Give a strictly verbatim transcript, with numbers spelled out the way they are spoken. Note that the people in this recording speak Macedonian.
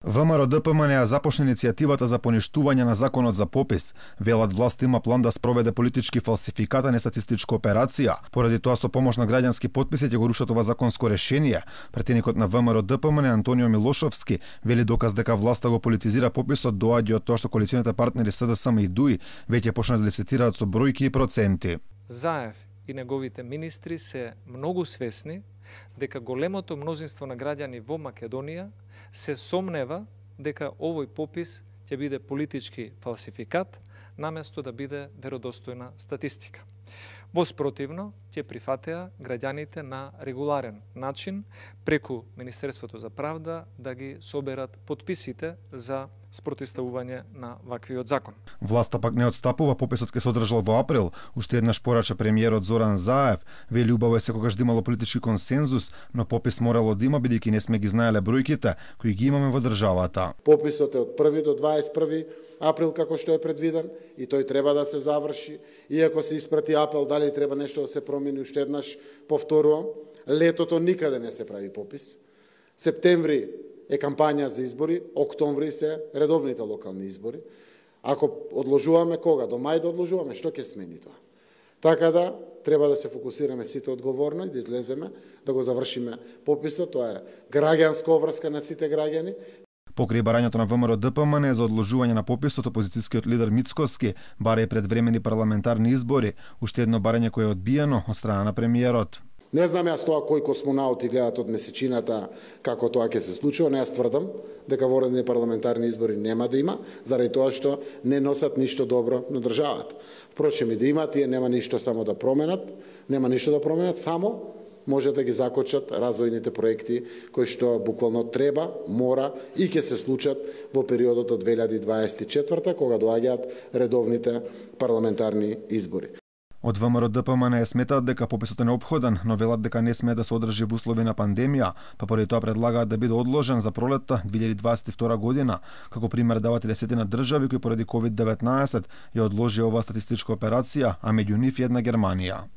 ВМРО-ДПМН ја започна иницијативата за поништување на законот за попис. Велат власта има план да спроведе политички фалсификат, а не статистичка операција. Поради тоа со помош на граѓански потписи ќе го рушат ова законско решение. Претеникот на ВМРО-ДПМН Антонио Милошовски вели доказ дека власта го политизира пописот доаѓа од тоа што коалиционите партнери СДСМ и ДУИ веќе почна да лицитираат со бројки и проценти. Заев и неговите министри се многу свесни дека големото мнозинство на граѓани во Македонија се сомнева дека овој попис ќе биде политички фалсификат, наместо да биде веродостојна статистика. Воспротивно, ќе прифатеа граѓаните на регуларен начин преку Министерството за правда да ги соберат подписите за спротивставување на ваквиот закон. Власта пак не отстапува, пописот ќе се одржал во април. Уште еднаш порача премиерот Зоран Заев, вели убаво е секогаш да имало политички консензус, но попис морало да има бидејќи не сме ги знаеле бројките кои ги имаме во државата. Пописот е од први до дваесет и први април како што е предвиден и тој треба да се заврши. Иако се испрати апел, дали треба нешто да се промени, уште еднаш повторувам, летото никаде не се прави попис. Септември е кампања за избори, октомври се редовните локални избори. Ако одложуваме кога? До мај да одложуваме, што ќе смени тоа? Така да, треба да се фокусираме сите одговорно и да излеземе, да го завршиме пописот. Тоа е граѓанска обврска на сите граѓани. Покрај барањето на ВМРО-ДПМН за одложување на пописот, опозицијскиот лидер Мицкоски баре предвремени парламентарни избори, уште едно барање кое е одбиено од страна на премиерот. Не знам јас тоа кои космонаути гледат од месечината како тоа ќе се случува, но јас тврдам дека воредни парламентарни избори нема да има, заради тоа што не носат ништо добро на државата. Впрочем и да има, тие нема ништо само да променат, нема ништо да променат, само може да ги закочат развојните проекти кои што буквално треба, мора и ќе се случат во периодот од две илјади дваесет и четврта кога доаѓаат редовните парламентарни избори. Од ВМРО-ДПМН сметаат дека пописот е неопходен, но велат дека не смее да се одржи во услови на пандемија, па поради тоа предлагаат да биде одложен за пролетта две илјади дваесет и втора година. Како пример дават и десетина држави кои поради ковид деветнаесет ја одложи оваа статистичка операција, а меѓу нив една Германија.